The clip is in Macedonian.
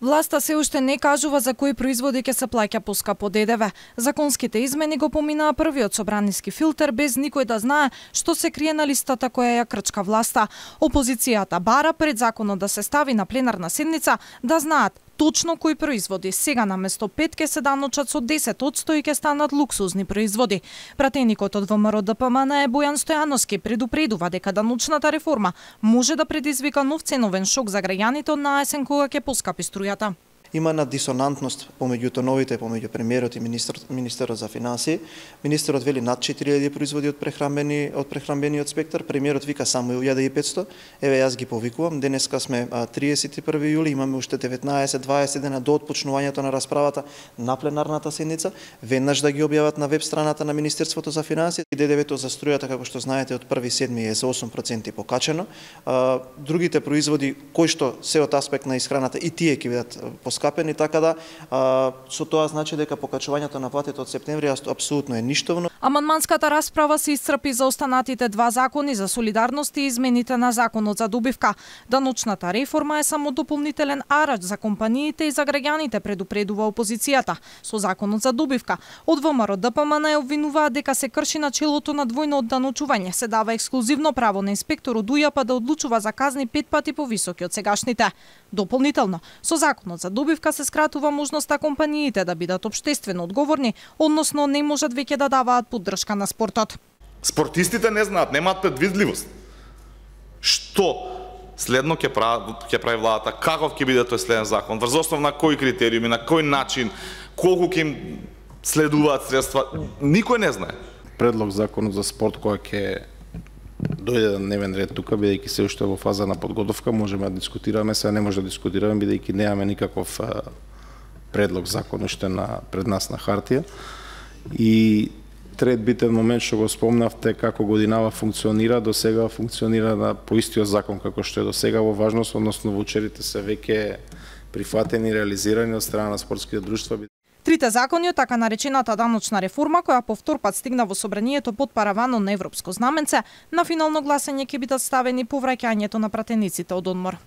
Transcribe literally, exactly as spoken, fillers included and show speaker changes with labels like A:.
A: Власта се уште не кажува за кои производи ќе се плаќа поскапо Д Д В. Законските измени го поминаа првиот собраниски филтер без никој да знае што се крие на листата која ја крчка власта. Опозицијата бара пред законот да се стави на пленарна седница да знаат точно кои производи сега наместо пет ќе се даночат со десет одсто и ќе станат луксузни производи. Пратеникот од В М Р Д П М Н Бојан Стојановски предупредува дека даночната реформа може да предизвика нов ценовен шок за граѓаните од наесен кога ќе поскапи струјата.
B: Има на дисонантност помеѓу тоновите, помеѓу премиерот и министр, министерот за финансии. Министерот вели над четири илјади производи од прехрамбени од прехрамбениот спектар, премиерот вика само илјада и петсто. Еве јас ги повикувам, денеска сме триесет и први јули, имаме уште деветнаесет дваесет дена до отпочнувањето на расправата на пленарната седница, веднаш да ги објават на веб страната на Министерството за финансии. Д Д В-то за струјата, како што знаете, од први седми е за осум проценти покачено. Другите производи кои што се од аспект на исхраната и тие ќе бидат скапени, така да а, со тоа значи дека покачувањето на платите од септември апсолутно е ништовно.
A: Амандманската расправа се исцрпи за останатите два закони за солидарност и измените на законот за добивка. Даночната реформа е само дополнителен арач за компаниите и за граѓаните, предупредува опозицијата. Со законот за добивка од В М Р Д П М Н обвинуваат дека се крши начелото на двојно одданочување, се дава ексклузивно право на инспектор од У Ј П да одлучува за казни пет пати повисоки од сегашните. Дополнително, со законот за добивка се скратува можноста компаниите да бидат општествено одговорни, односно не можат веќе да даваат поддршка на спортот.
C: Спортистите не знаат, немаат предвидливост. Што следно ќе прави ќе прави владата, каков ќе биде тој следен закон, врз основа на кои критериуми, на кој начин, колку ќе им следуваат средства, никој не знае.
D: Предлог законот за спорт кој ќе дојде на дневен ред тука, бидејќи се уште во фаза на подготовка, можеме да дискутираме, сега не може да дискутираме бидејќи немаме никаков предлог закон уште на пред нас на хартија. И трет битен момент што го спомнавте како годинава функционира, до сега функционира на по истиот закон како што е до сега во важност, односно ваучерите се веќе прифатени и реализирани од страна на спортските друштва.
A: Трите закони од така наречената даночна реформа, која по втор пат стигна во собранието под паравано на европско знаменце, на финално гласање ќе бидат ставени по враќањето на пратениците од одмор.